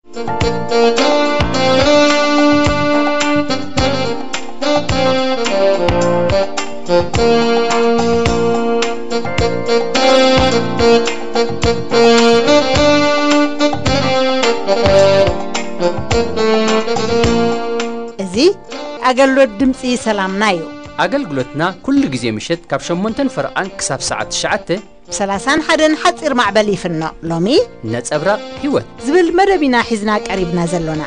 እዚ ኣገልግሎት ድምፂ ሰላምና እዩ። ኣገልግሎትና ኩሉ ግዜ ምሸት ካብ ሸሞንተን ፈረቓን ክሳብ ሰዓት ትሽዓተ ብ ሰላሳን ሓደን ሓፂር ማዕበል ይፍኖ። ሎሚ ነጸብራቕ ህይወት ዝብል መደብ ኢና ሒዝና ቀሪብና ዘሎና።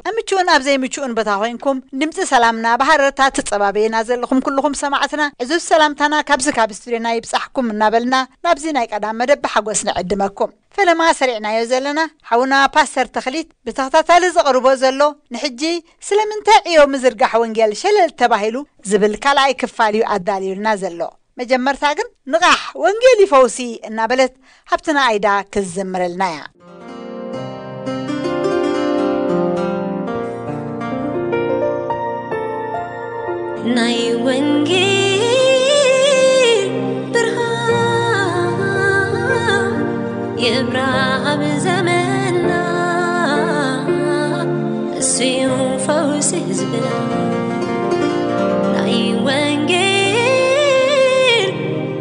ኣብ ምቹእን ኣብ ዘይምቹእን ቦታ ኮይንኩም ድምፂ ሰላምና ብሃረርታ ትጸባበየና ዘለኹም ኩልኹም ሰማዕትና ዕዙዝ ሰላምታና ካብዚ ካብ ስቱድዮና ይብጻሕኩም እናበልና ናብዚ ናይ ቀዳም መደብ ብሓጎስ ንዕድመኩም። ፈለማ ሰሪዕናዮ ዘለና ሓውና ፓስተር ተኽሊት ብተኸታታሊ ዘቕርቦ ዘሎ ንሕጂ ስለምንታይ ዕዮ ምዝርጋሕ ወንጌል ሸለል ተባሂሉ ዝብል ካልኣይ ክፋል እዩ ኣዳልዩልና ዘሎ። መጀመርታ ግን ንቓሕ ወንጌል ይፈውሲ እናበለት ሃብትና ኣይዳ ክዝምረልና እያ። ናይ ወንጌል ብርሃን የብርሃ ኣብ ዘመንና፣ እሱ እዩ ፈውሲ ህዝብና። ናይ ወንጌል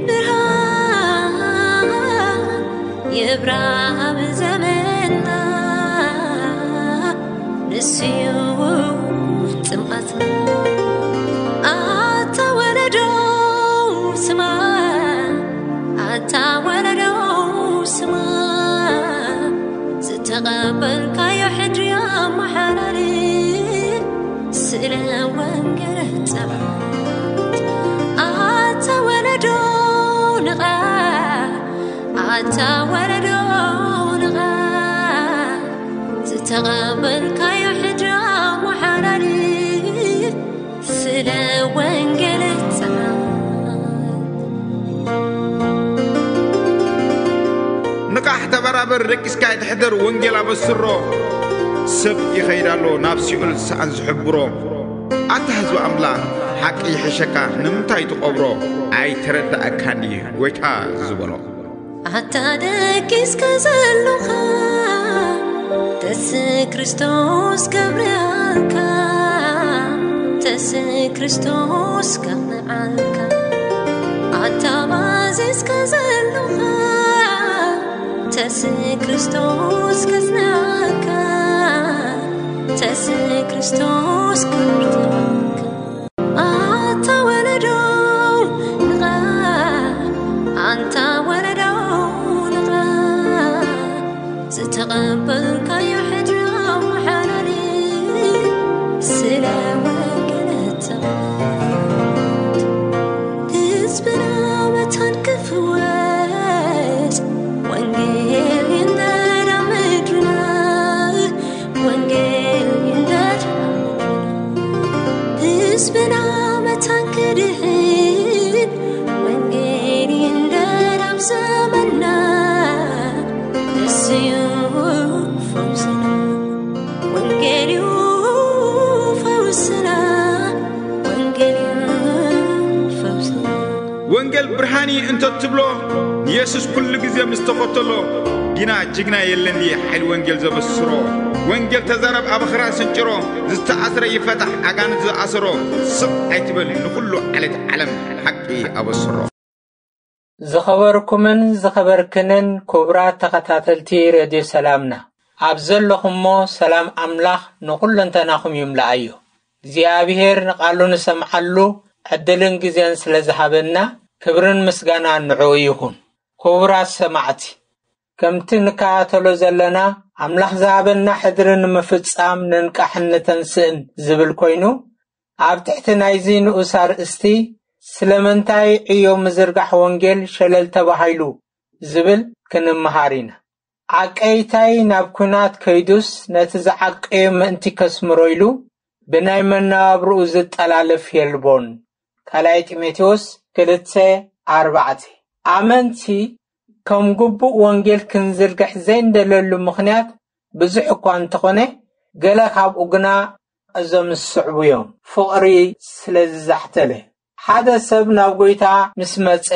ብርሃን የብርሃ ኣብ ዘመንና፣ ንሱ እዩ ጽምኣትና። ኣታ ወለዶ ስማ፣ ኣታ ወለዶ ስማ፣ ዝተቐበልካዮ ሕድሪ ኣመሓላልፍ፣ ስለ ወንጌል ጸልእ። ኣታ ወለዶ ንቓ፣ ኣታ ወለዶ ንቓ፣ ዝተቐበልካዮ ሕድሪ ኣመሓላልፍ፣ ስለ ወንጌል ጽናት። ንቓሕ ተበራበር፣ ደቂስካ ኣይትሕደር፣ ወንጌል ኣበስሮ። ሰብ ይኸይድ ኣሎ ናብ ሲኦል ሰኣን ዝሕብሮ። ኣታ ህዝቢ ኣምላኽ፣ ሓቂ ይሕሸካ ንምንታይ ትቐብሮ? ኣይተረዳእካን ድዩ ጎይታ ዝበሎ? ኣታ ደቂስካ ዘሎኻ፣ ተስ ክርስቶስ ከብርሃልካ፣ ተስ ክርስቶስ ከቕንዓልካ። ኣታ ባዚዝካ ዘሎኻ፣ ተስ ክርስቶስ ከጽንዓካ፣ ተስ ክርስቶስ ከብርሃልካ። ኣታ ወለዶ ንቓ፣ ኣንታ ወለዶ ንቓ፣ ዝተቐበልካዮ ሕድሪ ኣመሓላልፍ፣ ስለ ወንጌል ተቐበል። ህዝብና መታን ክፍወስ፣ ወንጌል ይንደድ ኣብ ምድርና፣ ወንጌል ይንደድ ኣብ ምድርና። ህዝብና መታን ክድሕን፣ ወንጌል ይንደድ ኣብ ዘመንና። እሱ እዩ ፈውስና፣ ወንጌል እዩ ፈውስና፣ ወንጌል እዩ ፈውስና። ወንጌል ብርሃን እዩ እንተ ትብሎ፣ ንየሱስ ኩሉ ግዜ ምስ ተኸተሎ፣ ጊና ጅግና የለን ድየ ሓይሊ ወንጌል ዘበስሮ? ወንጌል ተዛረብ፣ ኣባኽራ ስንጭሮ፣ ዝተኣስረ ይፈታሕ፣ ኣጋንንት ዝኣሰሮ። ስቕ ኣይትበል፣ ንኹሉ ዓሌት ዓለም ሓቂ ኣበስሮ። ዝኸበርኩምን ዝኸበርክንን ክቡራት ተኸታተልቲ ሬድዮ ሰላምና፣ ኣብ ዘለኹሞ ሰላም ኣምላኽ ንኹለንተናኹም ይምላኣዮ። እግዚኣብሔር ንቓሉ ንሰምዓሉ ዕድልን ግዜን ስለ ዝሃበና፣ ክብርን ምስጋናን ንዕኡ ይኹን። ክቡራት ሰማዕቲ፣ ከምቲ ንከታተሎ ዘለና፣ ኣምላኽ ዝሃበና ሕድሪ ንምፍጻም ንንቃሕን ንተንስእን ዝብል ኮይኑ፣ ኣብ ትሕቲ ናይዚ ንኡስ ኣርእስቲ፣ ስለምንታይ ዕዮ ምዝርጋሕ ወንጌል ሸለል ተባሂሉ ዝብል ክንመሃር ኢና። ዓቀይታይ ናብ ኲናት ከይዱስ፣ ነቲ ዝዓቀዮ ምእንቲ ከስምሮ ኢሉ፣ ብናይ መነባብርኡ ዝጠላለፍ የልቦን። ካልኣይ ጢሞቴዎስ ክልተ ኣርባዕተ። ኣመንቲ ከም ግቡእ ወንጌል ክንዝርግሕ ዘይንደለሉ ምኽንያት ብዙሕ እኳ እንተኾነ፣ ገለ ካብኡ ግና እዞም ዝስዕቡ እዮም። ፍቕሪ ስለ ዝዛሕተለ። ሓደ ሰብ ናብ ጐይታ ምስ መጸ፣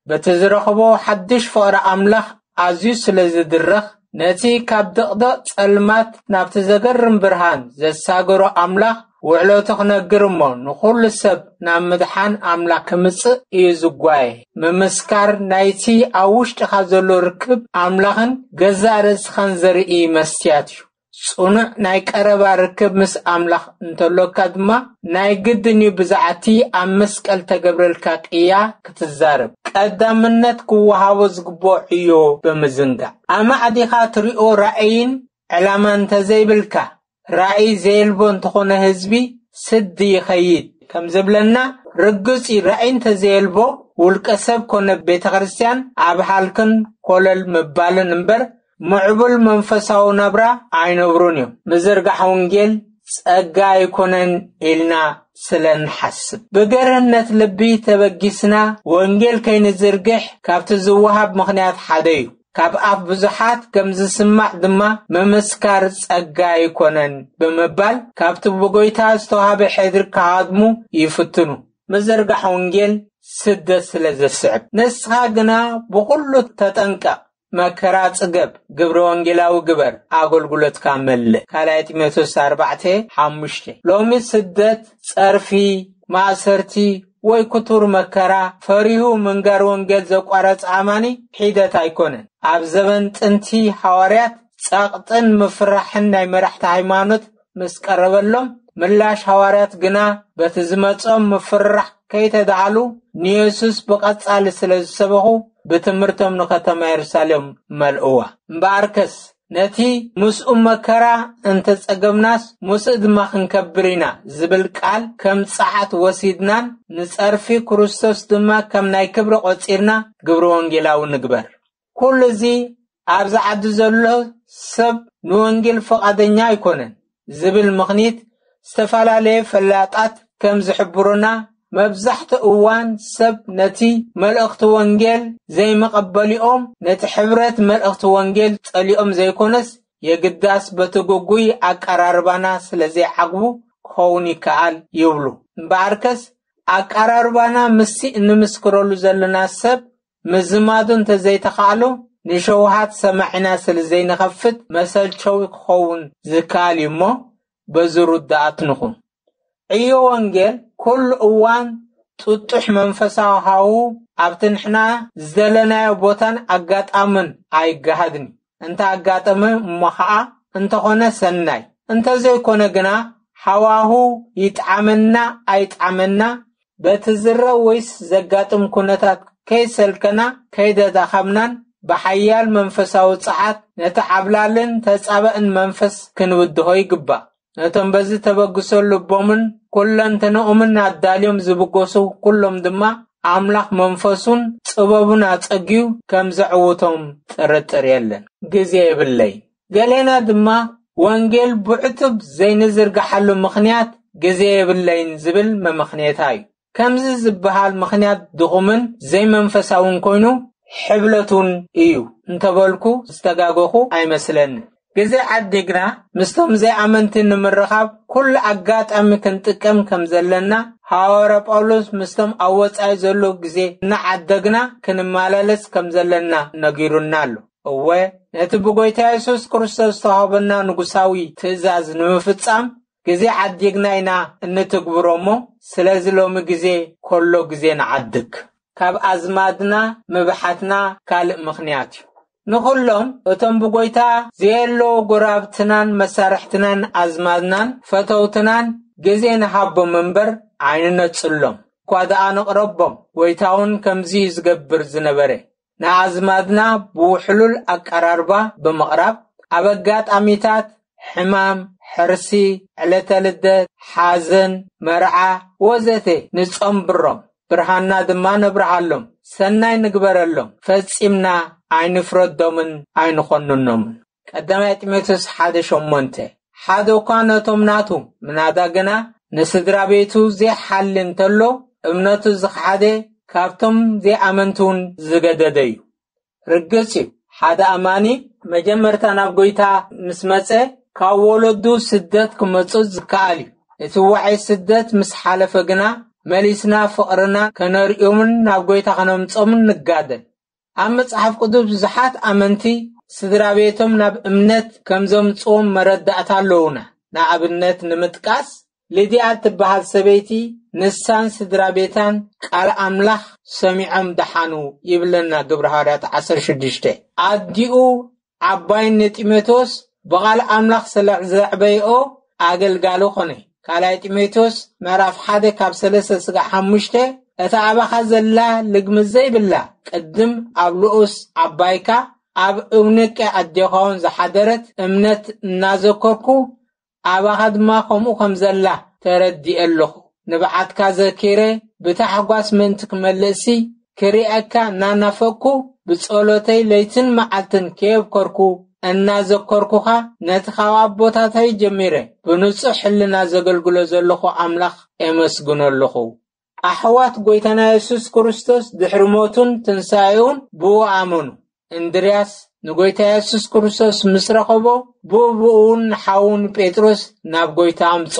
በቲ ዝረኽቦ ሓድሽ ፍቕሪ ኣምላኽ ኣዝዩ ስለ ዝድረኽ፣ ነቲ ካብ ድቕድቕ ጸልማት ናብቲ ዘገርም ብርሃን ዘሳገሮ ኣምላኽ ውዕለቱ ክነግር እሞ፣ ንኹሉ ሰብ ናብ ምድሓን ኣምላኽ ክምጽእ እዩ ዝጓየ። ምምስካር ናይቲ ኣብ ውሽጥኻ ዘሎ ርክብ ኣምላኽን ገዛእ ርእስኻን ዘርኢ መስትያት እዩ። ጽኑዕ ናይ ቀረባ ርክብ ምስ ኣምላኽ እንተሎካ ድማ፣ ናይ ግድን እዩ ብዛዕቲ ኣብ መስቀል ተገብረልካ ቅያ ክትዛረብ። ቀዳምነት ክወሃቦ ዝግብኦ ዕዮ ብምዝንጋዕ፣ ኣማዕዲኻ ትሪኦ ራእይን ዕላማ እንተዘይብልካ፣ ራእይ ዘየልቦ እንተኾነ ህዝቢ ስዲ ይኸይድ ከም ዝብለና ርግጽ እዩ። ራእይ እንተዘየልቦ፣ ውልቀ ሰብ ኮነ ቤተ ክርስቲያን ኣብ ሃልክን ኮለል ምባልን እምበር፣ ምዕቡል መንፈሳዊ ናብራ ኣይነብሩን እዮም። ምዝርጋሕ ወንጌል ጸጋ ኣይኮነን ኢልና ስለ ንሓስብ፣ ብገርህነት ልቢ ተበጊስና ወንጌል ከይንዝርግሕ ካብቲ ዝወሃብ ምኽንያት ሓደ እዩ። ካብ ኣፍ ብዙሓት ከም ዝስማዕ ድማ፣ ምምስካር ጸጋ ኣይኮነን ብምባል፣ ካብቲ ብጎይታ ዝተዋህበ ሕድሪ ክሃድሙ ይፍትኑ። ምዝርጋሕ ወንጌል ስደት ስለ ዘስዕብ። ንስኻ ግና ብኹሉ ተጠንቀቕ፣ መከራ ጽገብ፣ ግብረ ወንጌላዊ ግበር፣ ኣገልግሎትካ መልእ። ካልኣይ ጢሞቴዎስ ኣርባዕተ ሓሙሽተ። ሎሚ ስደት፣ ጸርፊ፣ ማእሰርቲ ወይ ክቱር መከራ ፈሪሁ ምንጋር ወንጌል ዘቋረጸ ኣማኒ ሒደት ኣይኮነን። ኣብ ዘበን ጥንቲ ሃዋርያት ጸቕጥን ምፍራሕን ናይ መራሕቲ ሃይማኖት ምስ ቀረበሎም፣ ምላሽ ሃዋርያት ግና በቲ ዝመጾም ምፍርራሕ ከይተዳሃሉ፣ ንየሱስ ብቐጻሊ ስለ ዝሰበኹ፣ ብትምህርቶም ንከተማ የሩሳሌም መልእዋ። እምበኣርከስ፣ ነቲ ምስኡ መከራ እንተጸገብናስ፣ ምስኡ ድማ ክንከብር ኢና ዝብል ቃል ከም ጸዓት ወሲድናን፣ ንጸርፊ ክርስቶስ ድማ ከም ናይ ክብሪ ቆጺርና፣ ግብረ ወንጌላዊ ንግበር። ኩሉ እዚ ኣብዚ ዓዲ ዘሎ ሰብ ንወንጌል ፍቓደኛ ኣይኮነን ዝብል ምኽኒት፣ ዝተፈላለየ ፈላጣት ከም ዝሕብሩና፣ መብዛሕትኡ እዋን ሰብ ነቲ መልእኽቲ ወንጌል ዘይመቐበሊኦም፣ ነቲ ሕብረት መልእኽቲ ወንጌል ጸሊኦም ዘይኮነስ፣ የግዳስ በቲ ግጉይ ኣቀራርባና ስለ ዘይዓግቡ ክኸውን ይከኣል ይብሉ። እምበኣርከስ፣ ኣቀራርባና ምስቲ እንምስክረሉ ዘለና ሰብ ምዝማዱ እንተ ዘይተኻእሉ፣ ንሸውሃት ሰማዒና ስለ ዘይንኸፍት፣ መሰልቸዊ ክኸውን ዝከኣል እዩ እሞ፣ በዚ ርዱኣት ንኹን። ዕዮ ወንጌል ኩሉ እዋን ጥጡሕ መንፈሳዊ ሃው ኣብቲ ንሕና ዝደለናዮ ቦታን ኣጋጣምን ኣይገሃድን እዩ። እንተ ኣጋጠመ እሞ ኸኣ እንተኾነ ሰናይ፣ እንተዘይኮነ ግና ሃዋሁ ይጥዓመና ኣይጥዓመና፣ በቲ ዝረእ ወይስ ዘጋጥም ኩነታት ከይሰልከና፣ ከይደዳኸምናን ብሓያል መንፈሳዊ ጸዓት ነቲ ዓብላልን ተጻባእን መንፈስ ክንብድሆ ይግባእ። ነቶም በዚ ተበግሶ ልቦምን ኩለንተንኦምን ኣዳልዮም ዝብገሱ ኩሎም ድማ፣ ኣምላኽ መንፈሱን ጥበቡን ኣጸግዩ ከም ዘዕውቶም ጥርጥር የለን። ግዜ የብለይን። ገሌና ድማ፣ ወንጌል ብዕቱብ ዘይንዝርግሓሉ ምኽንያት ግዜ የብለይን ዝብል መመኽንየታ እዩ። ከምዚ ዝበሃል ምኽንያት ድኹምን ዘይመንፈሳውን ኮይኑ፣ ሕብለት እውን እዩ እንተበልኩ ዝተጋገኹ ኣይመስለንን። ግዜ ዓዲግና ምስቶም ዘይኣመንቲ ንምርኻብ ኩሉ ኣጋጣሚ ክንጥቀም ከም ዘለና፣ ሃዋርያ ጳውሎስ ምስቶም ኣብ ወጻኢ ዘለዉ ግዜ እናዓደግና ክንመላለስ ከም ዘለና ነጊሩና ኣሎ። እወ፣ ነቲ ብጎይታ የሱስ ክርስቶስ ዝተዋህበና ንጉሳዊ ትእዛዝ ንምፍጻም ግዜ ዓዲግና ኢና እንትግብሮ እሞ፣ ስለዚ ሎሚ ግዜ ከሎ ግዜ ንዓድግ። ካብ ኣዝማድና ምብሓትና ካልእ ምኽንያት እዩ። ንኹሎም እቶም ብጎይታ ዘየለዉ ጎራብትናን መሳርሕትናን ኣዝማድናን ፈተውትናን ግዜ ንሃቦም እምበር ኣይንነጽሎም። እኳ ደኣ ንቕረቦም። ጎይታ እውን ከምዚ እዩ ዝገብር ዝነበረ። ንኣዝማድና ብውሕሉል ኣቀራርባ ብምቕራብ፣ ኣብ ኣጋጣሚታት ሕማም፣ ሕርሲ፣ ዕለተ ልደት፣ ሓዘን፣ መርዓ ወዘተ ንጸንብሮም፣ ብርሃንና ድማ ነብርሃሎም። ሰናይ ንግበረሎም። ፈጺምና ኣይንፍረዶምን ኣይንኾንኖምን። ቀዳማይ ጢሞቴዎስ ሓደ ሸሞንተ። ሓደ እኳ ነቶም ናቱ፣ ምናዳ ግና ንስድራ ቤቱ ዘይሓሊ እንተሎ፣ እምነቱ ዝኸሓደ ካብቶም ዘይኣመንቲ እውን ዝገደደ እዩ። ርግጽ እዩ፣ ሓደ ኣማኒ መጀመርታ ናብ ጎይታ ምስ መጸ፣ ካብ ወለዱ ስደት ክመጽእ ዝከኣል እዩ። እቲ ዋዒ ስደት ምስ ሓለፈ ግና፣ መሊስና ፍቕርና ከነርእዮምን ናብ ጎይታ ከነምጾምን ንጋደል። ኣብ መጽሓፍ ቅዱስ ብዙሓት ኣመንቲ ስድራ ቤቶም ናብ እምነት ከም ዘምጽዎም መረዳእታ ኣለዉና። ንኣብነት ንምጥቃስ፣ ሊድያ እትበሃል ሰበይቲ ንሳን ስድራ ቤታን ቃል ኣምላኽ ሰሚዖም ደሓኑ ይብለና ግብሪ ሃዋርያት ዓሰርተ ሽዱሽተ። ኣዲኡ ዓባይ ንጢሞቴዎስ ብቓል ኣምላኽ ስለ ዘዕበይኦ ኣገልጋሊ ኾነ። ካልኣይ ጢሞቴዎስ ምዕራፍ ሓደ ካብ ሰለስተ ስጋዕ ሓሙሽተ፣ እታ ኣባኻ ዘላ ልግምት ዘይብላ ቅድም ኣብ ልኡስ ዓባይካ ኣብ እውንቄ ኣዴኻውን ዝሓደረት እምነት እናዘከርኩ ኣባኻ ድማ ከምኡ ከም ዘላ ተረዲኤ ኣለኹ። ንብዓትካ ዘኪረ ብታሕጓስ ምእንቲ ክመልእሲ ክሪኣካ እናናፈቅኩ ብጸሎተይ ለይትን መዓልትን ከየብከርኩ እናዘከርኩኻ ነቲ ካብ ኣቦታተይ ጀሚረ ብንጹሕ ሕልና ዘገልግሎ ዘለኹ ኣምላኽ ኤመስግኖ ኣለኹ። ኣሕዋት ጎይታና የሱስ ክርስቶስ ድሕሪ ሞቱን ትንሳኤኡን ብኡ ኣመኑ። እንድርያስ ንጎይታ የሱስ ክርስቶስ ምስ ረኸቦ ብኡ ብኡ እውን ንሓዉ ንጴጥሮስ ናብ ጎይታ ኣምጾ።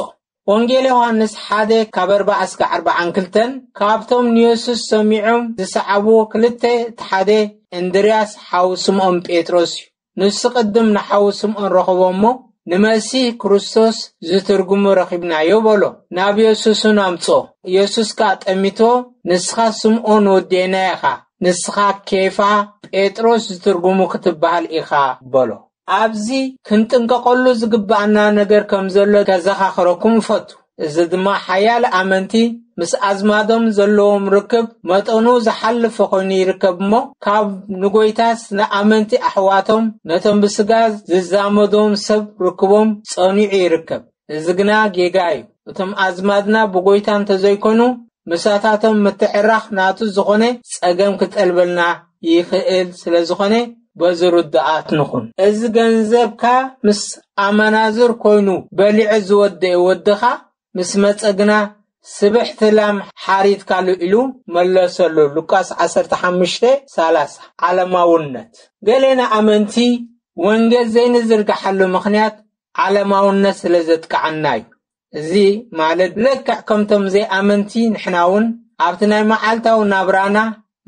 ወንጌል ዮሃንስ ሓደ ካብ ኣርባዓ እስከ ኣርባዓን ክልተን ካብቶም ንየሱስ ሰሚዖም ዝሰዓብዎ ክልተ እቲ ሓደ እንድርያስ ሓው ስምዖን ጴጥሮስ እዩ። ንሱ ቅድም ንሓው ስምዖን ረኸቦ እሞ ንመሲህ ክርስቶስ ዝትርጉሙ ረኺብናዮ በሎ። ናብ የሱስ እውን ኣምጾ። የሱስ ከኣ ጠሚቶ፣ ንስኻ ስምዖን ወዴና ኢኻ፣ ንስኻ ኬፋ ጴጥሮስ ዝትርጉሙ ክትበሃል ኢኻ በሎ። ኣብዚ ክንጥንቀቐሉ ዝግብኣና ነገር ከም ዘሎ ከዘኻኽረኩም እፈቱ። እዚ ድማ ሓያለ ኣመንቲ ምስ ኣዝማዶም ዘለዎም ርክብ መጠኑ ዝሓለፈ ኮይኑ ይርከብ እሞ፣ ካብ ንጎይታስ ንኣመንቲ ኣሕዋቶም ነቶም ብስጋ ዝዛመዶም ሰብ ርክቦም ጸኒዑ ይርከብ። እዚ ግና ጌጋ እዩ። እቶም ኣዝማድና ብጎይታ እንተዘይኮኑ፣ ምሳታቶም ምትዕራኽ ናቱ ዝኾነ ጸገም ክጠልበልና ይኽእል ስለ ዝኾነ፣ በዚ ርዱኣት ንኹን። እዚ ገንዘብካ ምስ ኣመናዝር ኮይኑ በሊዑ ዝወደአ ወድኻ ምስ መጸ ግና፣ ስብሕቲ ላም ሓሪድካሉ ኢሉ መለሰሉ። ሉቃስ ዓሰርተ ሓሙሽተ ሰላሳ። ዓለማውነት። ገሌና ኣመንቲ ወንጌል ዘይንዝርግሓሉ ምኽንያት ዓለማውነት ስለ ዘጥቅዓና እዩ። እዚ ማለት ልክዕ ከምቶም ዘይኣመንቲ ንሕና እውን ኣብቲ ናይ መዓልታዊ ናብራና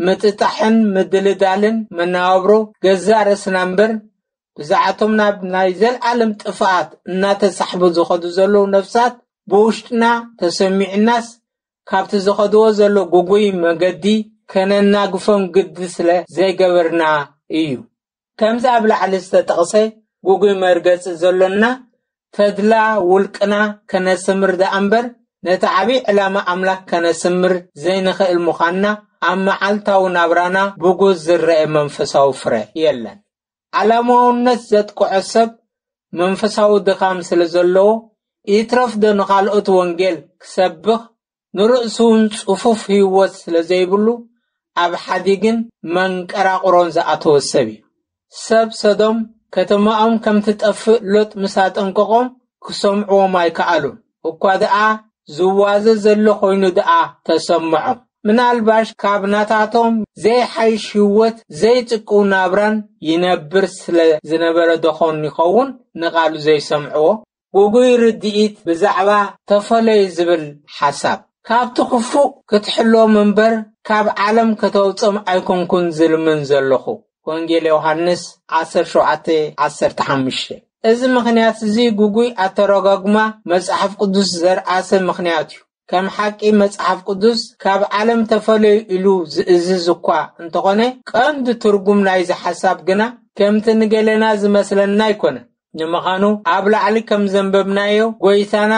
ምጥጣሕን ምድልዳልን መነባብሮ ገዛእ ርእስና እምበር፣ ብዛዕቶም ናብ ናይ ዘልኣለም ጥፍኣት እናተሳሕቡ ዝኸዱ ዘለዉ ነፍሳት ብውሽጥና ተሰሚዑናስ፣ ካብቲ ዝኸድዎ ዘሎ ጉጉይ መገዲ ከነናግፎም ግዲ ስለ ዘይገበርና እዩ። ከምዚ ኣብ ላዕሊ ዝተጠቕሰ ጉጉይ መርገጺ ዘሎና ተድላ ውልቅና ከነስምር ደኣ እምበር፣ ነቲ ዓብዪ ዕላማ ኣምላኽ ከነስምር ዘይንኽእል ምዃንና ኣብ መዓልታዊ ናብራና ብጉስ ዝረአ መንፈሳዊ ፍረ የለን። ዓለማውነት ዘጥቅዖ ሰብ መንፈሳዊ ድኻም ስለ ዘለዎ፣ ይትረፍ ዶ ንኻልኦት ወንጌል ክሰብኽ፣ ንርእሱ እውን ጽፉፍ ህይወት ስለ ዘይብሉ፣ ኣብ ሓዲግን መንቀራቕሮን ዝኣተወ ሰብ እዩ። ሰብ ሰዶም ከተማኦም ከም ትጠፍእ ሎጥ ምስ ኣጠንቀቖም፣ ክሰምዕዎም ኣይከኣሉን። እኳ ደኣ ዝዋዘ ዘሎ ኮይኑ ደኣ ተሰምዖም። ምናልባሽ ካብ ናታቶም ዘይሓይሽ ህይወት ዘይጽቅው ናብራን ይነብር ስለ ዝነበረ ዶኾን ይኸውን ንቓሉ ዘይሰምዕዎ? ጉጉይ ርድኢት ብዛዕባ ተፈለዩ ዝብል ሓሳብ። ካብቲ ክፉእ ክትሕሎም እምበር ካብ ዓለም ከተውጾም ኣይኮንኩን ዝልምን ዘለኹ። ወንጌል ዮሃንስ ዓሰርተ ሸውዓተ ዓሰርተ ሓሙሽተ። እዚ ምኽንያት እዚ ጉጉይ ኣተረጓጉማ መጽሓፍ ቅዱስ ዘርኣሰ ምኽንያት እዩ። ከም ሓቂ መጽሓፍ ቅዱስ ካብ ዓለም ተፈለዩ ኢሉ ዝእዝዝ እኳ እንተኾነ፣ ቀንዲ ትርጉም ናይዚ ሓሳብ ግና ከምቲ ንገለና ዝመስለና ኣይኮነን። ንምዃኑ ኣብ ላዕሊ ከም ዘንበብናዮ፣ ጎይታና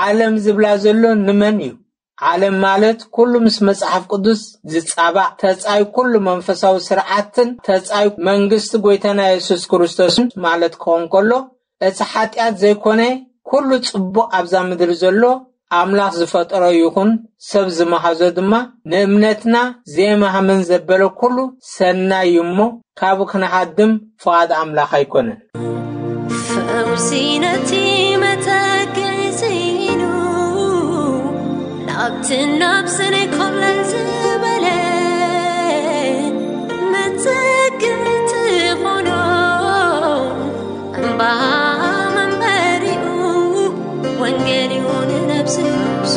ዓለም ዝብላ ዘሎ ንመን እዩ? ዓለም ማለት ኩሉ ምስ መጽሓፍ ቅዱስ ዝጻባእ ተጻይ ኩሉ መንፈሳዊ ስርዓትን ተጻይ መንግስቲ ጎይታና የሱስ ክርስቶስን ማለት ክኸውን ከሎ፣ እቲ ሓጢኣት ዘይኮነ ኩሉ ጽቡቕ ኣብዛ ምድሪ ዘሎ ኣምላኽ ዝፈጠሮ ይኹን ሰብ ዝመሃዞ ድማ ንእምነትና ዘይማህመን ዘበለ ኩሉ ሰናይ እዩ እሞ፣ ካብኡ ክንሃድም ፍቓድ ኣምላኽ ኣይኮነን። ፈውሲ ነቲ መተክዒ ስኢኑ፣ ናብትን ናብስን ኮለል ዝበለ መተክዒ ትኾኖ እምባ መንበሪኡ፣ ወንጌል እዩ ንነብሲ ፈውሱ።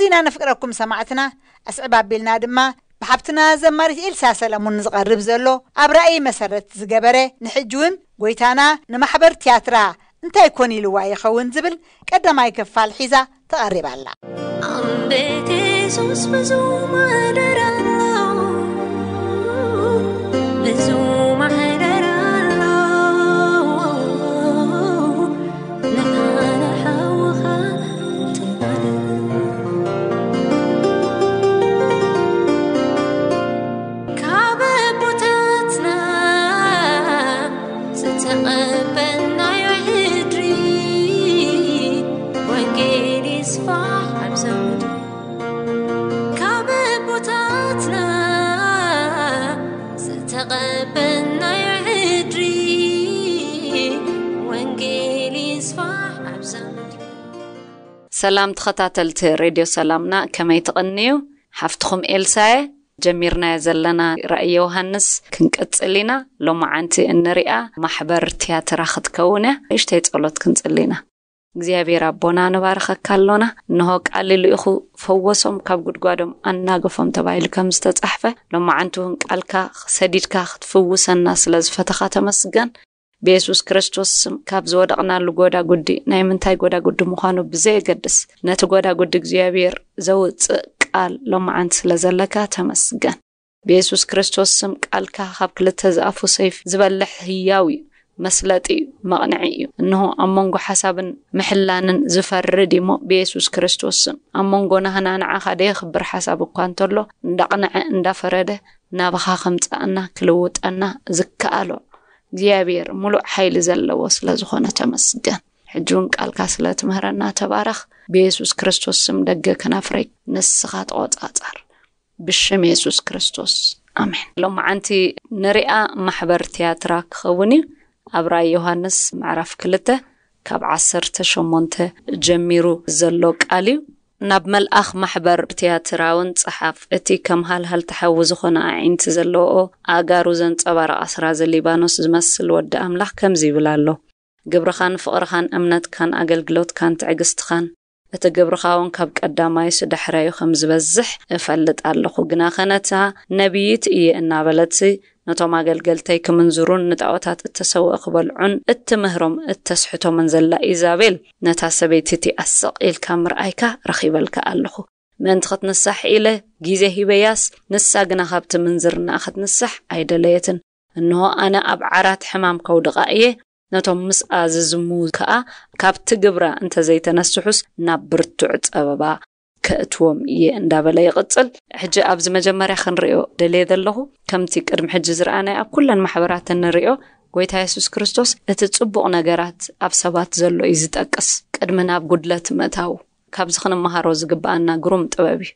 ኣዚና ነፍቅረኩም ሰማዕትና። ኣስዕብ ኣቢልና ድማ ብሓብትና ዘማሪት ኤልሳ ሰለሙን ዝቐርብ ዘሎ ኣብ ራእይ መሰረት ዝገበረ፣ ንሕጂ እውን ጎይታና ንማሕበር ትያትራ እንታይ ኮን ኢልዋ ይኸውን ዝብል ቀዳማይ ክፋል ሒዛ ተቐሪባ ኣላ። ኣንቤት የሱስ ብዙ ማሕደር ኣሎ፣ ብዙ ማሕደር ኣሎ፣ ንሓደ ሓውኻ ትማልእ። ካብ ኣቦታትና ዝተቐበልናዮ ሕድሪ፣ ወንጌል ይስፋሕ ኣብዛ ምድሪ። ካብ ኣቦታትና ዝተቐበልናዮ ሕድሪ፣ ወንጌል ይስፋሕ ኣብዛ ምድሪ። ሰላም ተኸታተልቲ ሬድዮ ሰላምና፣ ከመይ ትቕንዩ? ሓፍትኹም ኤልሳየ። ጀሚርናዮ ዘለና ራእይ ዮሃንስ ክንቅጽል ኢና። ሎማዓንቲ እንሪኣ ማሕበር ትያትራ ክትከውን እያ። ንእሽተይ ጸሎት ክንጽሊ ኢና። እግዚኣብሔር ኣቦና፣ ንባርኸካ ኣሎና። እንሆ ቃል ልኢኹ ፈወሶም፣ ካብ ጉድጓዶም ኣናገፎም ተባሂሉ ከም ዝተጻሕፈ፣ ሎማዓንቲ እውን ቃልካ ሰዲድካ ክትፍውሰና ስለ ዝፈተኻ ተመስገን። ብየሱስ ክርስቶስ ስም ካብ ዝወደቕናሉ ጎዳጉዲ፣ ናይ ምንታይ ጎዳጉዲ ምዃኑ ብዘየገድስ፣ ነቲ ጎዳጉዲ እግዚኣብሔር ዘውጽእ ቃል ሎማዓንቲ ስለ ዘለካ ተመስገን። ብየሱስ ክርስቶስ ስም ቃልካ ካብ ክልተ ዝኣፉ ሰይፍ ዝበልሕ ህያው እዩ፣ መስለጢ እዩ፣ መቕንዒ እዩ። እንሆ ኣብ መንጎ ሓሳብን ምሕላንን ዝፈርድ እሞ ብየሱስ ክርስቶስ ስም ኣብ መንጎ ናህና ንዓኻ ደየኽብር ሓሳብ እኳ እንተሎ እንዳቕንዐ እንዳፈረደ ናባኻ ከምጽኣና ክልውጠና ዝከኣሎ እግዚኣብሔር ምሉእ ሓይሊ ዘለዎ ስለ ዝኾነ ተመስገን። ሕጂ እውን ቃልካ ስለ ትምህረና ተባረኽ። ብየሱስ ክርስቶስ ስም ደገ ከናፍረይ ንስኻ ተቖጻጻር። ብሽም የሱስ ክርስቶስ ኣሜን። ሎማዓንቲ ንሪኣ ማሕበር ትያትራ ክኸውን እዩ። ኣብ ራእይ ዮሃንስ ምዕራፍ ክልተ ካብ ዓሰርተ ሸሞንተ ጀሚሩ ዘሎ ቃል እዩ። ናብ መልኣኽ ማሕበር ትያትራ እውን ጸሓፍ። እቲ ከም ሃልሃልቲ ሓዊ ዝኾነ ኣዒንቲ ዘለዎ፣ ኣእጋሩ ዘንጸባርቕ ኣስራዚ ሊባኖስ ዝመስል ወዲ ኣምላኽ ከምዚ ይብል ኣሎ። ግብርኻን ፍቕርኻን እምነትካን ኣገልግሎትካን ትዕግስትኻን፣ እቲ ግብርኻ እውን ካብ ቀዳማይስ ዳሕራዩ ከም ዝበዝሕ እፈልጥ ኣለኹ። ግናኸ ነታ ነቢይት እየ እናበለት ነቶም ኣገልገልተይ ክምንዝሩን ንጣዖታት እተሰውአ ክበልዑን እትምህሮም እተስሕቶምን ዘላ ኢዛቤል፣ ነታ ሰበይቲ እቲኣ ስቕ ኢልካ ምርኣይካ ረኺበልካ ኣለኹ። ምእንቲ ክትንሳሕ ኢለ ግዜ ሂበያስ፣ ንሳ ግና ካብቲ ምንዝርናኣ ክትንሳሕ ኣይደለየትን። እንሆ፣ ኣነ ኣብ ዓራት ሕማም ከውድቓ እየ፣ ነቶም ምስኣ ዝዝሙ ከኣ ካብቲ ግብራ እንተ ዘይተነስሑስ ናብ ብርቱዕ ጸበባ ከእትዎም እየ እንዳበለ ይቕጽል። ሕጂ ኣብዚ መጀመርያ ክንርእዮ ደልየ ዘለኹ፣ ከምቲ ቅድሚ ሕጂ ዝረኣናዮ ኣብ ኩለን ማሕበራት እንርእዮ፣ ጎይታ የሱስ ክርስቶስ እቲ ጽቡቕ ነገራት ኣብ ሰባት ዘሎ እዩ ዝጠቅስ። ቅድሚ ናብ ጉድለት ምእታዉ፣ ካብዚ ክንመሃሮ ዝግብኣና ግሩም ጥበብ እዩ።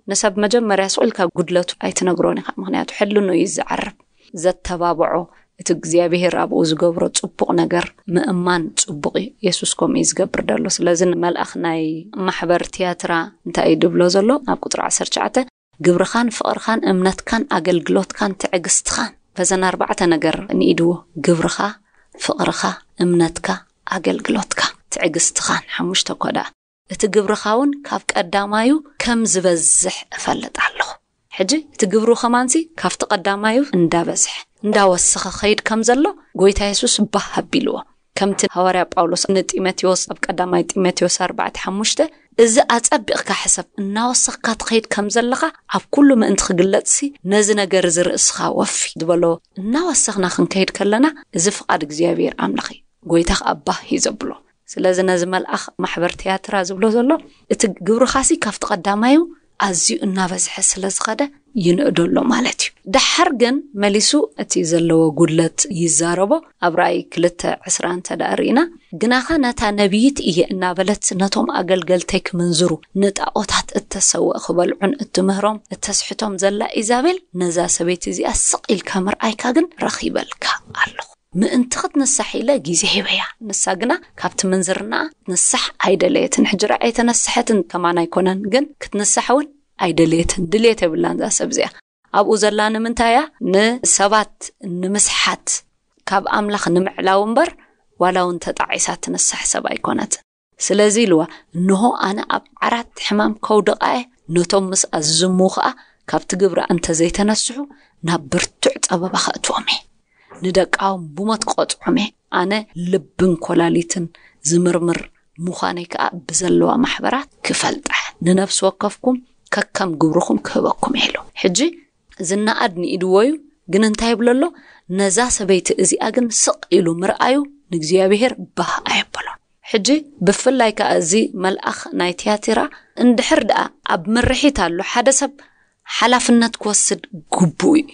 ንሰብ መጀመርያ ስቕ ኢልካ ጉድለቱ ኣይትነግሮን ኢኻ፣ ምኽንያቱ ሕልኑ እዩ ዝዓርብ። ዘተባብዖ፣ እቲ እግዚኣብሄር ኣብኡ ዝገብሮ ጽቡቕ ነገር ምእማን ጽቡቕ እዩ። የሱስ ከምኡ እዩ ዝገብር ደሎ። ስለዚ ንመልኣኽ ናይ ማሕበር ትያትራ እንታይ እዩ ድብሎ ዘሎ? ኣብ ቁጽሪ ዓሰርተ ትሽዓተ፣ ግብርኻን ፍቕርኻን እምነትካን ኣገልግሎትካን ትዕግስትኻን። በዘን ኣርባዕተ ነገር ንኢድዎ፣ ግብርኻ፣ ፍቕርኻ፣ እምነትካ፣ ኣገልግሎትካ፣ ትዕግስትኻን። ሓሙሽተ እኮ ደኣ። እቲ ግብርኻ እውን ካብ ቀዳማዩ ከም ዝበዝሕ እፈልጥ ኣለኹ። ሕጂ እቲ ግብሩ ከማንሲ ካብቲ ቀዳማዩ እንዳበዝሐ፣ እንዳወሰኸ ኸይድ ከም ዘሎ ጎይታ የሱስ ባህ ኣቢልዎ። ከምቲ ሃዋርያ ጳውሎስ ንጢሞቴዎስ ኣብ ቀዳማይ ጢሞቴዎስ ኣርባዕተ ሓሙሽተ፣ "እዚ ኣጸቢቕካ ሕሰብ፣ እናወሰኽካ ትኸይድ ከም ዘለኻ ኣብ ኩሉ ምእንቲ ክግለጽሲ፣ ነዚ ነገር እዚ ርእስኻ ወፊ" ዝበሎ እናወሰኽና ክንከይድ ከለና፣ እዚ ፍቓድ እግዚኣብሔር ኣምላኽ እዩ። ጎይታ ኸኣ ባህ እዩ ዘብሎ። ስለዚ ነዚ መልኣኽ ማሕበር ትያትራ ዝብሎ ዘሎ፣ እቲ ግብርኻሲ ካብቲ ቀዳማዩ ኣዝዩ እናበዝሐ ስለ ዝኸደ ይንእዶ ኣሎ ማለት እዩ። ደሓር ግን መሊሱ እቲ ዘለዎ ጉድለት ይዛረቦ። ኣብ ራእይ ክልተ ዕስራ እንተ ደኣ ርኢና፣ "ግናኸ ነታ ነቢይት እየ እናበለት ነቶም ኣገልገልተይ ክምንዝሩ፣ ንጣዖታት እተሰውአ ክበልዑን እትምህሮም እተስሕቶም ዘላ ኢዛቤል፣ ነዛ ሰበይቲ እዚኣ ስቕ ኢልካ ምርኣይካ ግን ረኺበልካ ኣለኹ። ምእንቲ ክትንሳሕ ኢለ ግዜ ሂበያ፣ ንሳ ግና ካብቲ ምንዝርናኣ ክትንሳሕ ኣይደለየትን። ሕጂ ረኣ ኣይተነስሐትን ከማን ኣይኮነን፣ ግን ክትንሳሕ እውን ኣይደለየትን። ድልየት የብላን እዛ ሰብ እዚኣ። ኣብኡ ዘላ ንምንታይ እያ? ንሰባት ንምስሓት፣ ካብ ኣምላኽ ንምዕላው እምበር፣ ዋላ እውን ተጣዒሳ ትንሳሕ ሰብ ኣይኮነትን። ስለዚ ኢልዋ፣ እንሆ ኣነ ኣብ ዓራት ሕማም ከውድቓ እየ፣ ነቶም ምስኣ ዝዝምዉ ኸኣ ካብቲ ግብራ እንተ ዘይተነስሑ ናብ ብርቱዕ ጸበባ ኸእትዎም እየ። ንደቃዎም ብሞት ክቐጽዖም እየ። ኣነ ልብን ኮላሊትን ዝምርምር ምዃነይ ከኣ ብዘለዋ ማሕበራት ክፈልጣ፣ ንነፍሲ ወከፍኩም ከከም ግብርኹም ክህበኩም እየ ኢሉ። ሕጂ ዝነኣድ ንኢድዎ እዩ፣ ግን እንታይ ይብሎ ኣሎ? ነዛ ሰበይቲ እዚኣ ግን ስቕ ኢሉ ምርኣዩ ንእግዚኣብሔር ባህ ኣየበሎን። ሕጂ ብፍላይ ከኣ እዚ መልኣኽ ናይ ትያትራ እንድሕር ደኣ ኣብ ምርሒት ኣሎ ሓደ ሰብ ሓላፍነት ክወስድ ግቡእ እዩ።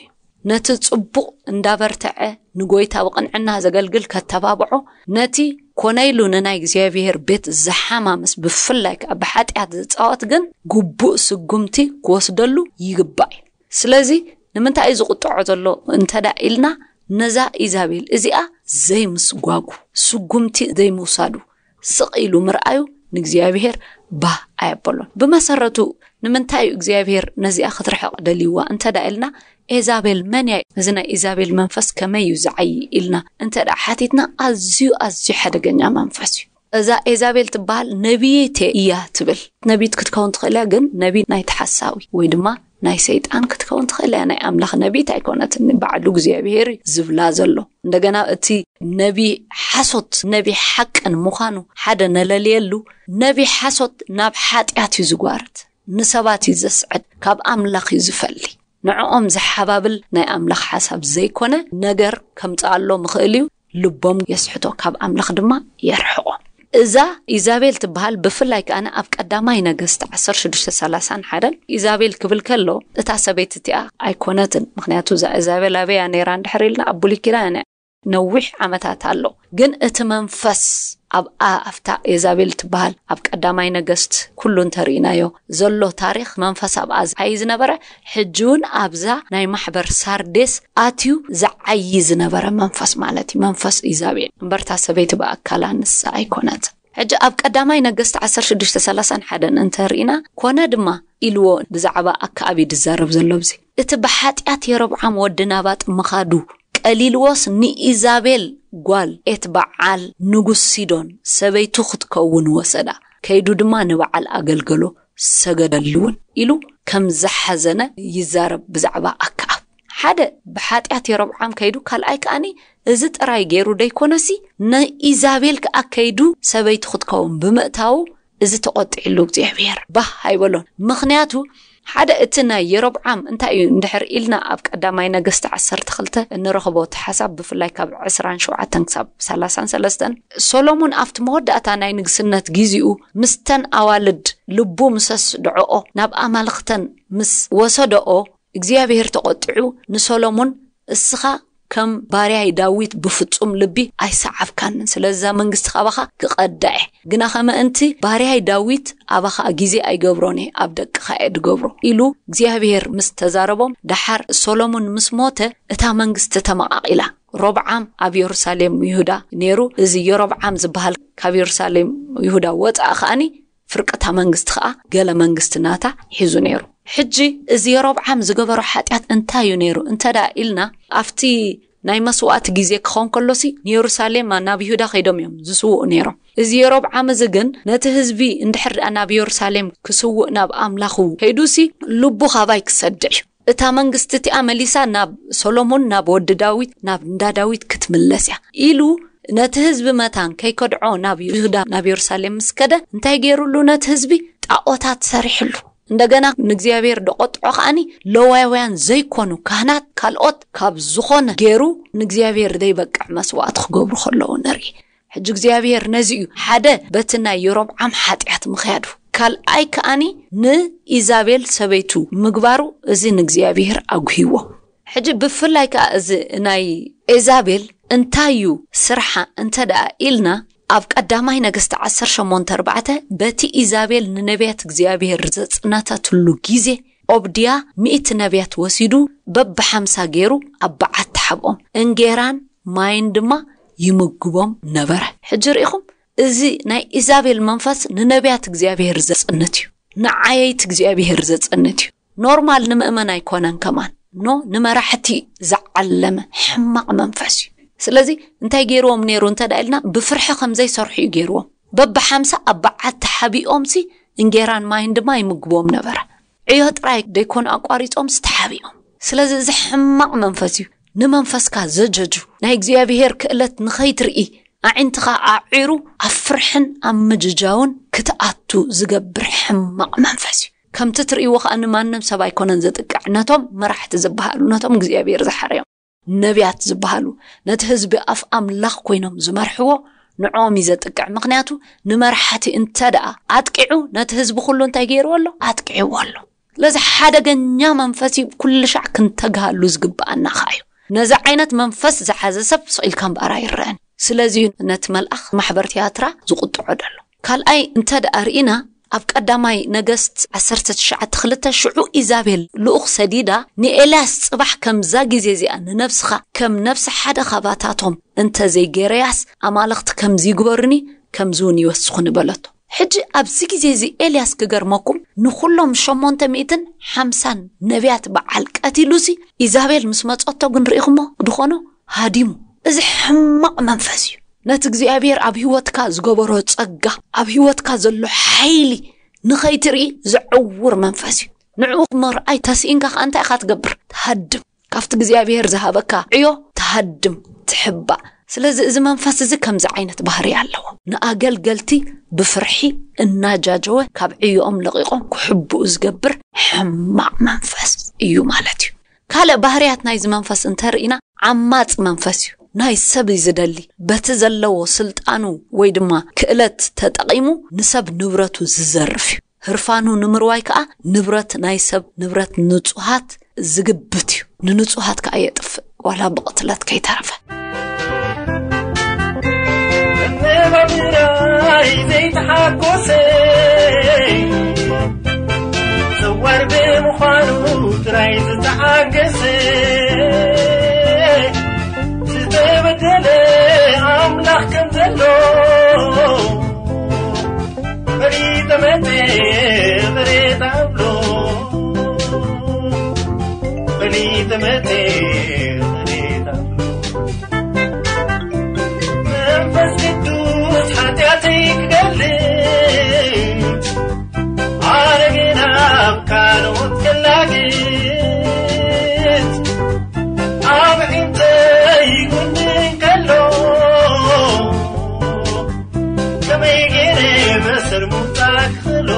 ነቲ ጽቡቕ እንዳበርተዐ ንጎይታ ብቕንዕና ዘገልግል ከተባብዖ፣ ነቲ ኮነ ኢሉ ንናይ እግዚኣብሔር ቤት ዝሓማምስ ብፍላይ ከኣ ብሓጢኣት ዝጻወት ግን ግቡእ ስጉምቲ ክወስደሉ ይግባእ እዩ። ስለዚ ንምንታይ እዩ ዝቕጥዖ ዘሎ እንተዳ ኢልና፣ ነዛ ኢዛቤል እዚኣ ዘይምስጓጉ፣ ስጉምቲ ዘይምውሳዱ፣ ስቕ ኢሉ ምርኣዩ ንእግዚኣብሔር ባህ ኣየበሎን። ብመሰረቱ ንምንታይ እዩ እግዚኣብሔር ነዚኣ ክትርሕቕ ደልይዋ እንተዳ ኢልና፣ ኤዛቤል መን እያ? እዚ ናይ ኢዛቤል መንፈስ ከመይ እዩ ዝዓይ ኢልና እንተዳ ሓቲትና፣ ኣዝዩ ኣዝዩ ሓደገኛ መንፈስ እዩ። እዛ ኤዛቤል ትበሃል ነቢይት እያ ትብል። ነቢይት ክትከውን ትኽእል እያ፣ ግን ነቢይ ናይቲ ሓሳዊ ወይ ድማ ናይ ሰይጣን ክትከውን ትኽእል እያ። ናይ ኣምላኽ ነቢይት ኣይኮነትን፣ ባዕሉ እግዚኣብሔር እዩ ዝብላ ዘሎ። እንደገና እቲ ነቢ ሓሶት ነቢ ሓቅን ምዃኑ ሓደ ነለልየሉ። ነቢ ሓሶት ናብ ሓጢኣት እዩ ዝጓርት፣ ንሰባት እዩ ዘስዕድ፣ ካብ ኣምላኽ እዩ ዝፈሊ። ንዕኦም ዝሓባብል ናይ ኣምላኽ ሓሳብ ዘይኮነ ነገር ከምጽኣሎም ይኽእል እዩ። ልቦም የስሕቶ፣ ካብ ኣምላኽ ድማ የርሕቖም። እዛ ኢዛቤል ትበሃል ብፍላይ ከኣ ኣብ ቀዳማይ ነገስት ዓሰርተ ሽዱሽተ ሰላሳን ሓደን ኢዛቤል ክብል ከሎ፣ እታ ሰበይቲ እቲኣ ኣይኮነትን። ምኽንያቱ እዛ ኢዛቤል ኣበይ እያ ነይራ እንድሕር ኢልና፣ ኣብ ብሉይ ኪዳን እያ፣ ነዊሕ ዓመታት ኣሎ። ግን እቲ መንፈስ ኣብኣ፣ ኣብታ ኤዛቤል ትበሃል ኣብ ቀዳማይ ነገስት ኩሉ እንተርኢናዮ ዘሎ ታሪኽ መንፈስ ኣብኣ ዝዓይ ዝነበረ፣ ሕጂ እውን ኣብዛ ናይ ማሕበር ሳርዴስ ኣትዩ ዝዓይ ዝነበረ መንፈስ ማለት እዩ። መንፈስ ኢዛቤል እምበርታ ሰበይቲ ብኣካላ ንሳ ኣይኮነት። ሕጂ ኣብ ቀዳማይ ነገስት ዓሰርተ ሽዱሽተ ሰላሳን ሓደን እንተርኢና፣ ኮነ ድማ ኢልዎ ብዛዕባ ኣከኣብ እዩ ዝዛረብ ዘሎ። ኣብዚ እቲ ብሓጢኣት የሮብዓም ወዲ ናባጥ ምኻዱ ቀሊልዎስ፣ ንኢዛቤል ጓል ኤት በዓል ንጉስ ሲዶን ሰበይቱ ክትከውን ወሰዳ። ከይዱ ድማ ንበዓል ኣገልገሎ፣ ሰገደሉ እውን ኢሉ ከም ዝሓዘነ ይዛረብ ብዛዕባ ኣከኣብ። ሓደ ብሓጢኣት የሮብዓም ከይዱ፣ ካልኣይ ከኣኒ እዚ ጥራይ ገይሩ ደይኮነሲ፣ ንኢዛቤል ከኣ ከይዱ ሰበይቱ ክትከውን ብምእታዉ፣ እዚ ተቖጢዕሉ እግዚኣብሔር ባህ ኣይበሎን። ምኽንያቱ ሓደ እቲ ናይ የሮብዓም እንታይ እዩ እንድሕር ኢልና፣ ኣብ ቀዳማይ ነገስቲ ዓሰርተ ክልተ እንረኽቦ እቲ ሓሳብ፣ ብፍላይ ካብ ዕስራን ሸውዓተን ክሳብ ሰላሳን ሰለስተን፣ ሶሎሞን ኣብቲ መወዳእታ ናይ ንግስነት ጊዜኡ ምስተን ኣዋልድ ልቡ ምስ ኣስድዖኦ፣ ናብ ኣማልኽተን ምስ ወሰደኦ፣ እግዚኣብሔር ተቖጢዑ ንሶሎሞን፣ እስኻ ከም ባርያይ ዳዊት ብፍጹም ልቢ ኣይሰዓብካንን፣ ስለዚ እዛ መንግስቲ ካባኻ ክቐዳ እየ፣ ግናኸ ምእንቲ ባርያይ ዳዊት ኣባኻ ግዜ ኣይገብሮን እየ፣ ኣብ ደቅኻ እየ ድገብሮ ኢሉ እግዚኣብሔር ምስ ተዛረቦም፣ ደሓር ሶሎሞን ምስ ሞተ እታ መንግስቲ ተመቓቒላ። ሮብዓም ኣብ የሩሳሌም ይሁዳ ነይሩ። እዚ የሮብዓም ዝበሃል ካብ የሩሳሌም ይሁዳ ወፅኣ ከኣኒ ፍርቅታ መንግስቲ ከኣ ገለ መንግስቲ ናታ ሒዙ ነይሩ። ሕጂ እዚ የሮብዓም ዝገበሮ ሓጢኣት እንታይ እዩ ነይሩ እንተ ደኣ ኢልና፣ ኣብቲ ናይ መስዋእቲ ግዜ ክኸውን ከሎሲ ንየሩሳሌም ናብ ይሁዳ ከይዶም እዮም ዝስውኡ ነይሮም። እዚ የሮብዓም እዚ ግን ነቲ ህዝቢ እንድሕር ደኣ ናብ የሩሳሌም ክስውእ ናብ ኣምላኹ ከይዱሲ ልቡ ካባይ ክሰድዕ እዩ። እታ መንግስቲ እቲኣ መሊሳ ናብ ሰሎሞን፣ ናብ ወዲ ዳዊት፣ ናብ እንዳ ዳዊት ክትምለስ እያ ኢሉ ነቲ ህዝቢ መታን ከይከድዖ ናብ ይሁዳ፣ ናብ የሩሳሌም ምስ ከደ፣ እንታይ ገይሩሉ ነቲ ህዝቢ? ጣዖታት ሰሪሕሉ። እንደገና ንእግዚኣብሔር ደቆጥዖ ከኣኒ ለዋውያን ዘይኮኑ ካህናት ካልኦት ካብ ዝኾነ ገይሩ ንእግዚኣብሔር ዘይበቅዕ መስዋእቲ ክገብሩ ከለዉ ንርኢ። ሕጂ እግዚኣብሔር ነዚ እዩ ሓደ በቲ ናይ የሮብዓም ሓጢኣት ምኽያዱ፣ ካልኣይ ከኣኒ ንኢዛቤል ሰበይቱ ምግባሩ፣ እዚ ንእግዚኣብሔር ኣጉሂዎ። ሕጂ ብፍላይ ከኣ እዚ ናይ ኤዛቤል እንታይ እዩ ስርሓ እንተ ደኣ ኢልና፣ ኣብ ቀዳማይ ነገስቲ ዓሰርተ ሸሞንተ ኣርባዕተ፣ በቲ ኢዛቤል ንነቢያት እግዚኣብሔር ዘጽነተትሉ ግዜ፣ ኦብድያ ሚእቲ ነቢያት ወሲዱ በብሓምሳ ገይሩ ኣብ በዓቲ ሓብኦም፣ እንጌራን ማይን ድማ ይምግቦም ነበረ። ሕጂ ርኢኹም፣ እዚ ናይ ኢዛቤል መንፈስ ንነቢያት እግዚኣብሔር ዘጽንት እዩ፣ ንዓየይቲ እግዚኣብሔር ዘጽንት እዩ። ኖርማል ንምእመን ኣይኮነን ከማን፣ ኖ ንመራሕቲ ዝዓለመ ሕማቕ መንፈስ እዩ። ስለዚ እንታይ ገይርዎም ነይሩ እንተ ደኣ ኢልና፣ ብፍርሒ ከም ዘይሰርሑ እዩ ገይርዎም። በብሓምሳ ኣብ በዓል ተሓቢኦምሲ እንጌራን ማይን ድማ ይምግቦም ነበረ። ዕዮ ጥራይ ደይኮኑ ኣቋሪጾምሲ ተሓቢኦም። ስለዚ እዚ ሕማቕ መንፈስ እዩ። ንመንፈስካ ዘጀጁ፣ ናይ እግዚኣብሔር ክእለት ንኸይትርኢ ኣዒንትኻ ኣዒሩ ኣብ ፍርሕን ኣብ ምጅጃውን ክትኣቱ ዝገብር ሕማቕ መንፈስ እዩ። ከምቲ ትርእይዎ ከኣ ንማንም ሰብ ኣይኮነን ዘጥቅዕ። ነቶም መራሕቲ ዝበሃሉ፣ ነቶም እግዚኣብሔር ዝሓረዮም ነቢያት ዝበሃሉ፣ ነቲ ህዝቢ ኣፍ ኣምላኽ ኮይኖም ዝመርሕዎ ንዕኦም እዩ ዘጥቅዕ። ምኽንያቱ ንመራሕቲ እንተ ደኣ ኣጥቂዑ ነቲ ህዝቢ ኩሉ እንታይ ገይርዎ ኣሎ? ኣጥቂዕዎ ኣሎ። ስለዚ ሓደገኛ መንፈስ እዩ፣ ኩሉ ሻዕ ክንተግሃሉ ዝግብኣና ኸኣ እዩ። ነዚ ዓይነት መንፈስ ዝሓዘ ሰብ ስቕ ኢልካ እምበኣር ኣይረአን። ስለዚ እዩ ነቲ መልኣኽ ማሕበር ትያትራ ዝቑጥዖ ደሎ። ካልኣይ እንተ ደኣ ርኢና፣ ኣብ ቀዳማይ ነገስት ዓሰርተ ትሽዓተ ክልተ፣ ሽዑ ኢዛቤል ልኡኽ ሰዲዳ ንኤልያስ፣ ጽባሕ ከምዛ ግዜ እዚኣ ንነብስኻ ከም ነብሲ ሓደ ኻባታቶም እንተ ዘይገረያስ፣ ኣማልኽቲ ከምዚ ይግበሩኒ፣ ከምዚ እውን ይወስኹኒ በለቶ። ሕጂ ኣብዚ ግዜ እዚ ኤልያስ፣ ክገርመኩም፣ ንኹሎም ሸሞንተ ሚእትን ሓምሳን ነቢያት በዓል ቀቲሉሲ፣ ኢዛቤል ምስ መጸቶ ግን ርኢኹሞ ድኾኖ ሃዲሙ። እዚ ሕማቕ መንፈስ እዩ። ነቲ እግዚኣብሔር ኣብ ህይወትካ ዝገበሮ ጸጋ፣ ኣብ ህይወትካ ዘሎ ሓይሊ ንኸይትርኢ ዝዕውር መንፈስ እዩ። ንዕኡ ምርኣይ ተስኢንካ ከኣ እንታይ ኢኻ ትገብር? ትሃድም። ካብቲ እግዚኣብሔር ዝሃበካ ዕዮ ትሃድም፣ ትሕባእ። ስለዚ እዚ መንፈስ እዚ ከምዚ ዓይነት ባህሪ ኣለዎ። ንኣገልገልቲ ብፍርሒ እናጃጀወ ካብ ዕዮኦም ለቒቖም ክሕብኡ ዝገብር ሕማቕ መንፈስ እዩ ማለት እዩ። ካልእ ባህርያት ናይዚ መንፈስ እንተርኢና፣ ዓማጽ መንፈስ እዩ። ናይ ሰብ እዩ ዝደሊ። በቲ ዘለዎ ስልጣኑ ወይ ድማ ክእለት ተጠቒሙ ንሰብ ንብረቱ ዝዘርፍ እዩ። ህርፋኑ ንምርዋይ ከኣ ንብረት ናይ ሰብ፣ ንብረት ንጹሃት ዝግብት እዩ። ንንጹሃት ከኣ የጥፍእ፣ ዋላ ብቕትለት ከይተረፈ። መነባብራይ ዘይተሓጎሰ፣ ዘዋር ብምዃኑ ጥራይ ዝተዓገሰ፣ ዝተበደለ ኣምላኽ ከም ዘሎ፣ ፈሊጠ መጸ ቅሬታ ኣብሎ፣ ፈሊጠ መጸ ቅሬታ ኣብሎ። መንፈስ ቅዱስ ሓጢኣተይ ክገልጽ፣ ኣነ ግን ኣብ ካልኦት ክላግጽ፣ ኣብ ዒንተይ ይጉንን ከሎ፣ ከመይ ገይረ በሰር ምውጻእ ክኽእሎ?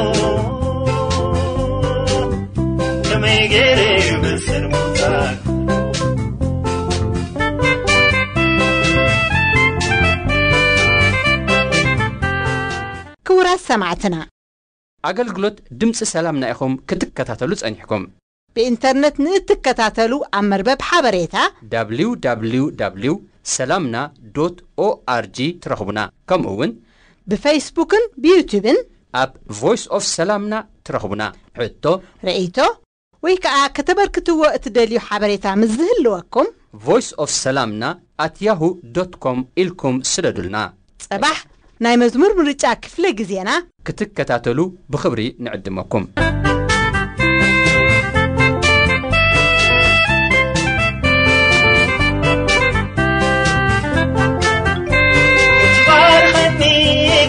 ከመይ ገይረ በሰር ምውጻእ? ክቡራት ሰማዕትና፣ ኣገልግሎት ድምፂ ሰላምና ኢኹም ክትከታተሉ ጸኒሕኩም። ብኢንተርነት ንእትከታተሉ ኣብ መርበብ ሓበሬታ www ሰላምና ዶት ኦኣርጂ ትረኽቡና። ከምኡ እውን ብፌስቡክን ብዩቱብን ኣብ ቮይስ ኦፍ ሰላምና ትረኽቡና። ሕቶ፣ ርእይቶ ወይ ከዓ ከተበርክትዎ እትደልዩ ሓበሬታ ምስ ዝህልወኩም፣ ቮይስ ኦፍ ሰላምና ኣት ያሁ ዶት ኮም ኢልኩም ስደዱልና። ጸባሕ ናይ መዝሙር ምርጫ ክፍለ ግዜና ክትከታተሉ ብኽብሪ ንዕድመኩም። ትባርኸኒ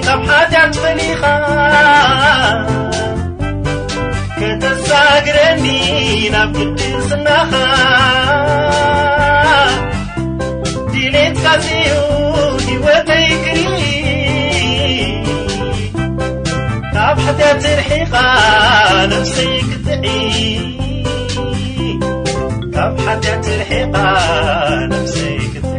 ካብ ሓጢኣት ፈሊኻ፣ ከተሳግረኒ ናብ ቅድስናኻ። ድሌትካ እዩ ህይወተይ ክርኢ፣ ካብ ሓጢኣት ርሒቓ ነፍሰይ ክትጥዒ፣ ካብ ሓጢኣት ርሒቓ ነፍሰይ ክትጥዒ።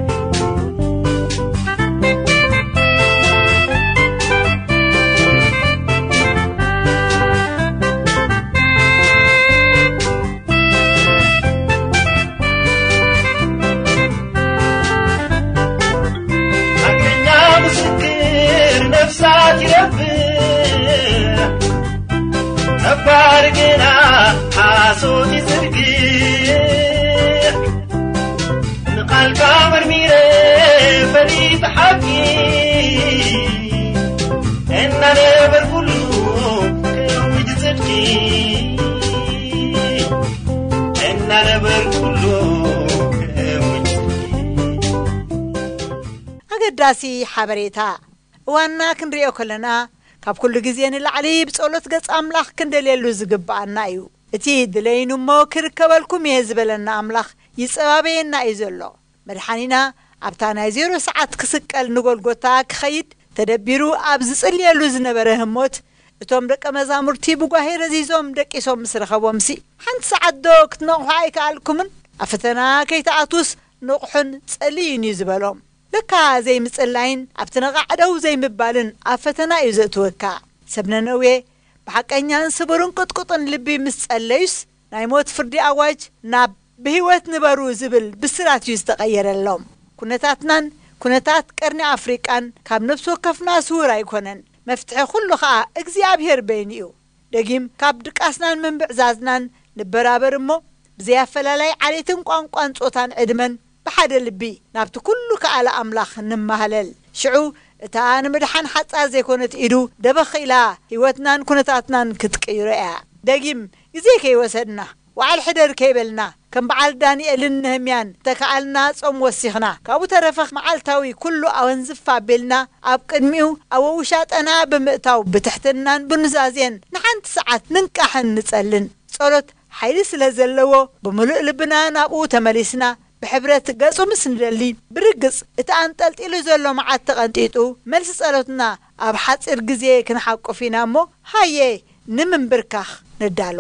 ሓቀኛ ምስክር ነፍሳት ይረብሕ፣ ነባር ግና ሓሶት ይዝርግሕ። ንቓልካ መርሚረ ፈሊጠ ሓቂ፣ እናነበርኩሉ ከእውጅ ጽድቂ፣ እናነበርኩሉ ከእውጅ ጽድቂ። ኣገዳሲ ሓበሬታ። እዋንና ክንሪኦ ከለና፣ ካብ ኩሉ ግዜ ንላዕሊ ብጸሎት ገጽ ኣምላኽ ክንደልየሉ ዝግብኣና እዩ። እቲ ድለይኑ እሞ ክርከበልኩም እየ ዝበለና ኣምላኽ ይጸባበየና እዩ ዘሎ። መድሓኒና ኣብታ ናይ ዜሮ ሰዓት ክስቀል ንጎልጎታ ክኸይድ ተደቢሩ ኣብ ዝጽልየሉ ዝነበረ ህሞት፣ እቶም ደቀ መዛሙርቲ ብጓሄ ረዚዞም ደቂሶም ምስ ረኸቦምሲ፣ ሓንቲ ሰዓት ዶ ክትነቕሑ ኣይከኣልኩምን? ኣብ ፈተና ከይትኣትዉስ ንቕሑን ጸልዩን እዩ ዝበሎም። ለካ ዘይምጽላይን ኣብቲ ነቓዕ ደው ዘይምባልን ኣብ ፈተና እዩ ዘእትወካ። ሰብ ነነዌ ብሓቀኛን ስቡርን ቅጥቁጥን ልቢ ምስ ጸለዩስ፣ ናይ ሞት ፍርዲ ኣዋጅ ናብ ብህይወት ንበሩ ዝብል ብስራት እዩ ዝተቐየረሎም። ኩነታትናን ኩነታት ቀርኒ ኣፍሪቃን ካብ ነፍሲ ወከፍና ስውር ኣይኮነን። መፍትሒ ኩሉ ኸኣ እግዚኣብሔር በይኑ እዩ። ደጊም ካብ ድቃስናን ምንብዕዛዝናን ንበራበር እሞ፣ ብዘይ ኣፈላላይ ዓሌትን ቋንቋን ጾታን ዕድመን ብሓደ ልቢ ናብቲ ኩሉ ከኣለ ኣምላኽ ንማህለል። ሽዑ እታ ንምድሓን ሓጻር ዘይኮነት ኢዱ ደበኽ ኢላ ህይወትናን ኩነታትናን ክትቅይሮ እያ። ደጊም ግዜ ከይወሰድና፣ ወዓል ሕደር ከይበልና፣ ከም በዓል ዳንኤልን ነህምያን ተከኣልና ጾም ወሲኽና፣ ካብኡ ተረፈ መዓልታዊ ኩሉ ኣወንዝፍ ኣቢልና ኣብ ቅድሚኡ ኣብ ውሻጠና ብምእታው ብትሕትናን ብኑዛዜን ንሓንቲ ሰዓት ንንቃሕን ንጸልን። ጸሎት ሓይሊ ስለ ዘለዎ ብምሉእ ልብና ናብኡ ተመሊስና ብሕብረት ገጹ ምስ ንደሊ፣ ብርግጽ እቲ ኣንጠልጢሉ ዘሎ መዓት ተቐንጢጡ፣ መልሲ ጸሎትና ኣብ ሓጺር ግዜ ክንሓቁፍ ኢና እሞ፣ ሃየ ንምንብርካኽ ንዳሎ።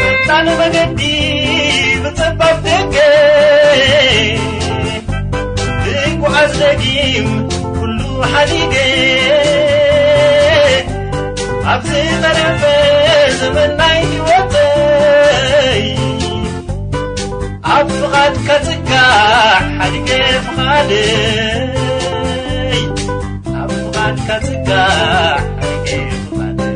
ቀጻሊ መገዲ ብጸባብ ደገ ክጓዓዝ ደጊም ኩሉ ሓዲገ፣ ኣብ ዝተረፈ ዘመን ናይ ህይወተይ ኣብ ፍቓድካ ጽጋዕ ሓዲገ ፍቓደይ፣ ኣብ ፍቓድካ ጽጋዕ ሓዲገ ፍቓደይ።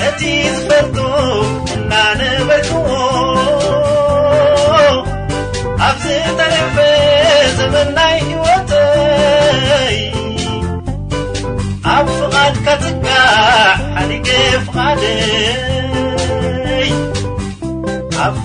ነቲ ዝፈልጦ እናነበርክዎ፣ ኣብ ዝተረፈ ዘመን ናይ ህይወተይ፣ ኣብ ፍቓድካ ጽጋዕ ሓዲገ ፍቓደይ፣ ኣብ